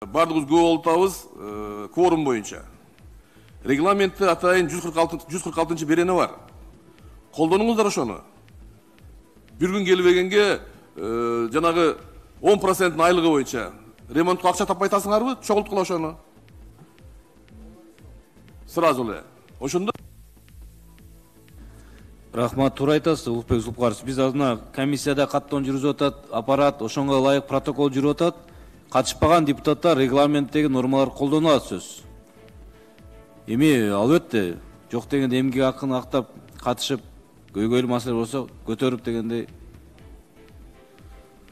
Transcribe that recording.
Бардығыз көп болуп атабыз кворум боюнча. Регламентте атайын 146 берени бар. Колдонуңуздар ошону. Bir gün келбегенге жанагы 10% айлыгы боюнча ремонтко акча таппай атасыңарбы? Чогулткула ошону. Сразу эле. Ошондо Рахмат, туура айтасыз, Улукбек Зулпукарович. Биз азына комиссияда каттоон жүрүзүп атат, аппарат ошонго ылайык протокол жүрүп атат. Катышпаган депутаттар регламенттеги нормалар колдонулат сөз. Эми албетте жок дегенде эмгек акын актап катышып көйгөйлүү маселе болсо көтөрүп дегендей